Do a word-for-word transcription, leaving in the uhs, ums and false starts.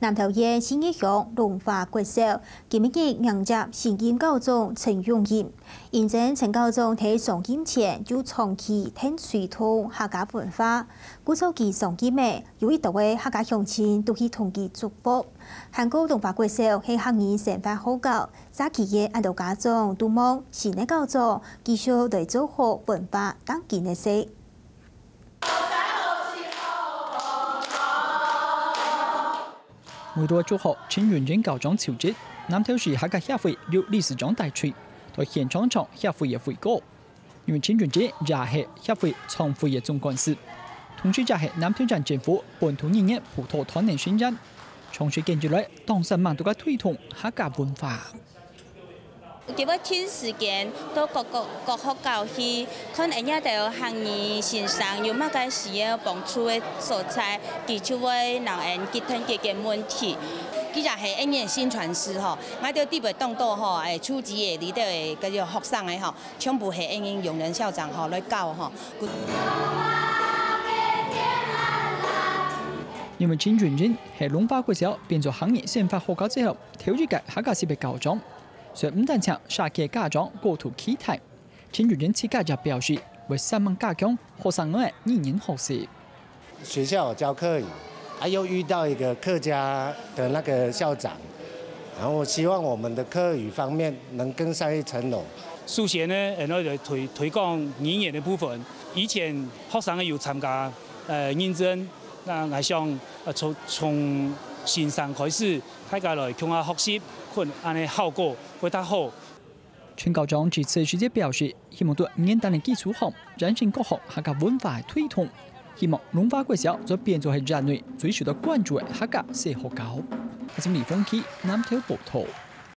南投縣信義鄉龍華國小今晡日迎接新任校長陳永仁。因為陳校長在上任前就長期𢯭手同客家文化，故所佢上任後，有一兜个客家鄉親都去同佢祝福。還過龍華國小係客語生活學校，社區个恁多家長都望新个校長繼續來做好文化當今个事。 每到祝賀陳永仁校長就職，南投市客家協會由理事長帶隊，到現場唱協會个會歌。因為陳永仁也係協會創會个總幹事，同時也係南投縣政府本土語言輔導團个成員，長時間以來，當時蠻多个推動客家文化。 佢會定時間到各，各，各學校去看𠊎兜客語先生有麼个需要幫助个所在，佢就會摎𠊎兜解決个問題。佢也係𠊎兜个宣傳師吼，𠊎兜特別當多吼，欸，初級个裡頭个該種學生个吼，全部係𠊎兜永仁校長吼來教吼。 因為陳永仁係龍華國小變做客語生活學校之後，頭一屆客家十月校長，所以毋單淨社區家長高度期待，陳永仁自家也表示會煞猛加強學生个語言學習。學校有教客語，啊，又遇到一個客家的那個校長，然後希望我們的客語方面能更上一層樓。首先呢，然後就推，推廣語言的部分，以前學生有參加，呃，認證，那𠊎想，呃，從，從先生開始，大家來共下學習，可能恁呢效果會較好。陳校長致詞時節表示，希望在語言个基礎項，完成各項客家文化个推動，希望龍華國小做變做係縣內最受到關注个客家小學校。記者李峰基南投報導。